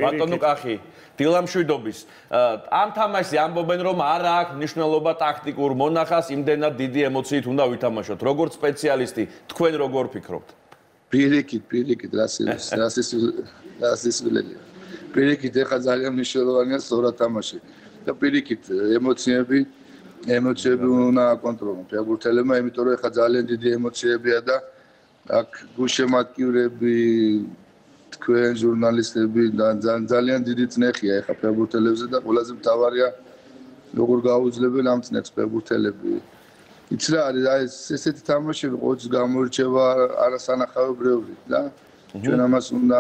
ბატონო კახი დილამშვიდობის ამ თამაშზე ამბობენ რომ არ აქვს მნიშვნელობა ტაქტიკურ მონახას იმდენად დიდი ემოციით უნდა ვითამაშოთ როგორც სპეციალისტი თქვენ როგორ ფიქრობთ პირიქით რასისულელია პირიქით ეხა ძალიან მნიშვნელოვანია სწორად თამაში და პირიქით ემოციები უნდა აკონტროლონ ფეხბურთელებმა იმიტომ რომ ეხა ძალიან დიდი ემოციებია და აქ გულშემატკივრები თქვენ ჟურნალისტები ძალიან დიდი წნეხია ეხა ფეხბურთელებზე და ყველაზე მთავარია როგორ გაუძლებენ ამ წნეხს ფეხბურთელები იცი რა არის აი ესეთი თამაშები ყოველთვის გამოირჩევა არასანახაობრივი და ჩვენ ამას უნდა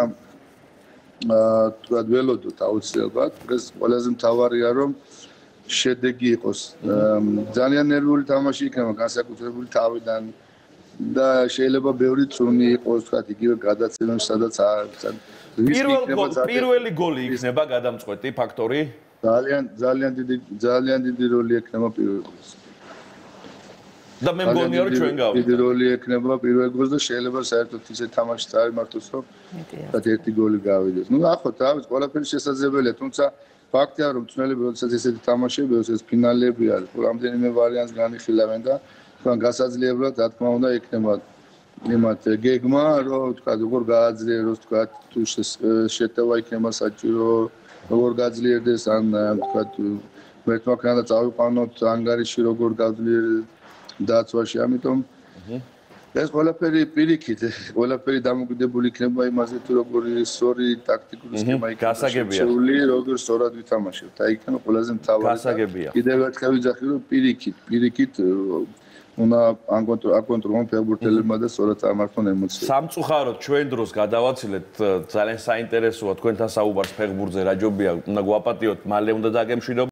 თქვათ ველოდოთ აუცილებლად ეს ყველაზე მთავარია რომ შედეგი იყოს ძალიან ნერვული თამაში იქნება განსაკუთრებული თავიდან და შეიძლება ბევრი წუნი იყოს თქვათ იგივე გადაცემებში სადაც პირველი გოლი იქნება გადამწყვეტი ფაქტორი ძალიან დიდი როლი ექნება პირველ გოლს და მე მგონია რომ ჩვენ გავთ დიდი როლი ექნება პირველ გოლს და შეიძლება საერთოდ ისეთ თამაშს წარიმართოს რომ ერთი გოლი გავიდეს ნუ ახოთ რა ვიცი ყველაფერი შესაძლებელია თუმცა ფაქტია რომ წვნელები როდესაც ესეთი თამაშები ეს ფინალები არის რამდენიმე ვარიანტს განიხილავენ და თან გასაძლებლად რა თქმა უნდა იქნება იმათ გეგმა რომ თქვა როგორ გააძლიეროს თქვა თუ შეტევა იქნება საჭირო როგორ გაძლიერდეს ან თქვა მეთვალყურე წავიყვანოთ ანგარიში როგორ გაძლიერდეს დაცვაში ამიტომ ეს ყველაფერი პირიქით ყველაფერი დამოკიდებული იქნება იმაზე თუ როგორი სწორი ტაქტიკური სქემა იქნება შეეული როგორ სწორად ვითამაშებთ აი იქნება ყველაზე მთავარი კიდევ ერთხელ ვიძახი რომ პირიქით უნდა აკონტროლონ ფეხბურთელებმა და სწორად წარმართონ ემოციები სამწუხაროდ ჩვენ დროს გადავაცილეთ ძალიან საინტერესოა თქვენთან საუბარს ფეხბურთზე რა ჯობია უნდა გვაპატიოთ მალე უნდა დაგემშვიდობოთ